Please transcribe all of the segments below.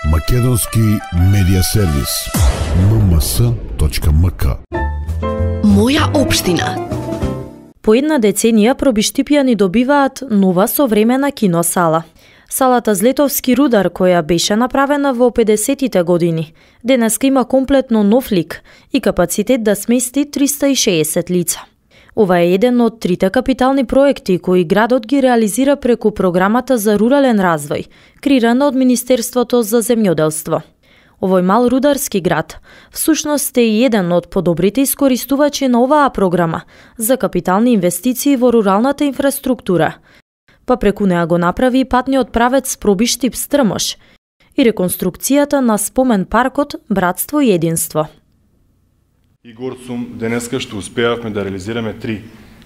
Македонски медиа сервис mms.mk. Моја општина. По една деценија пробиштипјани добиваат нова современа киносала. Салата Злетовски рудар, која беше направена во 50-тите години, денеска има комплетно нов лик и капацитет да смести 360 лица. Ова е еден од трите капитални проекти кои градот ги реализира преку програмата за рурален развој, креирана од Министерството за земјоделство. Овој мал рударски град всушност е еден од подобрите искористувачи на оваа програма за капитални инвестиции во руралната инфраструктура, па преку неа го направи патниот правец Пробиштип-Стрмош и реконструкцијата на спомен паркот Братство и единство. И горд сум денеска што успеавме да реализираме 3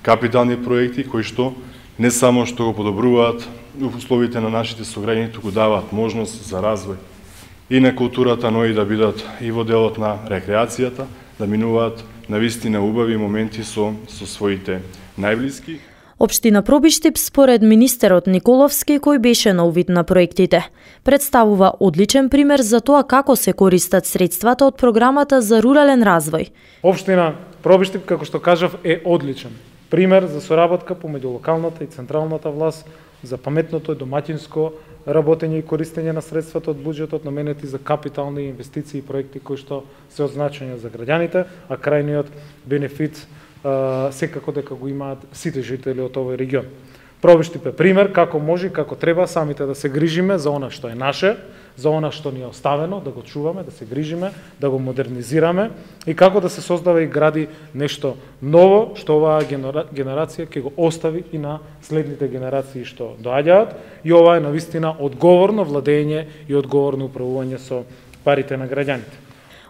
капитални проекти кои што не само што го подобруваат условите на нашите сограѓани, туку даваат можност за развој и на културата, но и да бидат и во делот на рекреацијата, да минуваат навистина убави моменти со своите најблиски. Општина Пробиштип, според министерот Николовски, кој беше на увид на проектите, представува одличен пример за тоа како се користат средствата од програмата за рурален развој. Општина Пробиштип, како што кажав, е одличен пример за соработка помеѓу локалната и централната власт за паметното и домаќинско работење и користење на средствата од буџетот наменети за капитални инвестиции и проекти кои што се од значење за граѓаните, а крајниот бенефит секако дека го имаат сите жители од овој регион. Пробиштип е пример како може и како треба самите да се грижиме за она што е наше, за она што ни е оставено, да го чуваме, да се грижиме, да го модернизираме и како да се создава и гради нешто ново што оваа генерација ќе го остави и на следните генерации што доаѓаат. И ова е навистина одговорно владење и одговорно управување со парите на граѓаните.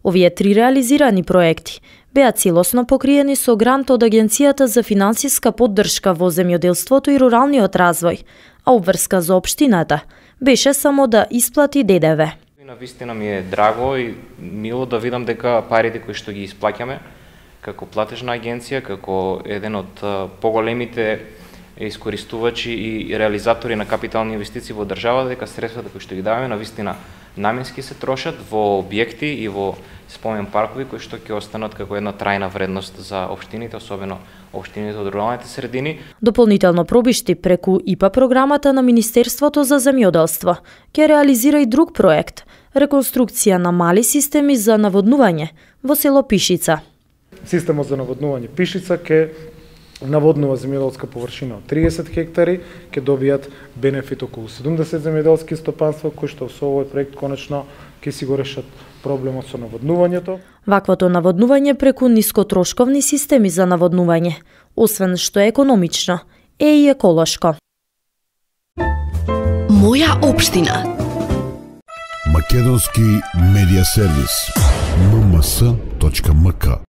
Овие 3 реализирани проекти беа целосно покриени со грант од Агенцијата за финансиска поддршка во земјоделството и руралниот развој, а обврска за општината беше само да исплати ДДВ. Навистина ми е драго и мило да видам дека парите кои што ги исплаќаме како платежна агенција, како еден од поголемите искористувачи и реализатори на капитални инвестиции во државата, дека средствата кои што ги даваме навистина наменски се трошат во објекти и во спомен паркови кои што ќе останат како една трајна вредност за општините, особено општините од руралните средини. Дополнително Пробиштип преку ИПА програмата на Министерството за земјоделство ќе реализира и друг проект – реконструкција на мали системи за наводнување во село Пишица. Системот за наводнување Пишица ќе наводнува земјоделска површина од 30 хектари, ќе добијат бенефит околу 70 земјоделски стопанства кои што со овој проект конечно ќе си го решат проблемот со наводнувањето. Ваквото наводнување преку нискотрошковни системи за наводнување, освен што е економично, е и еколошко. Моја општина. Македонски медиа сервис mms.mk.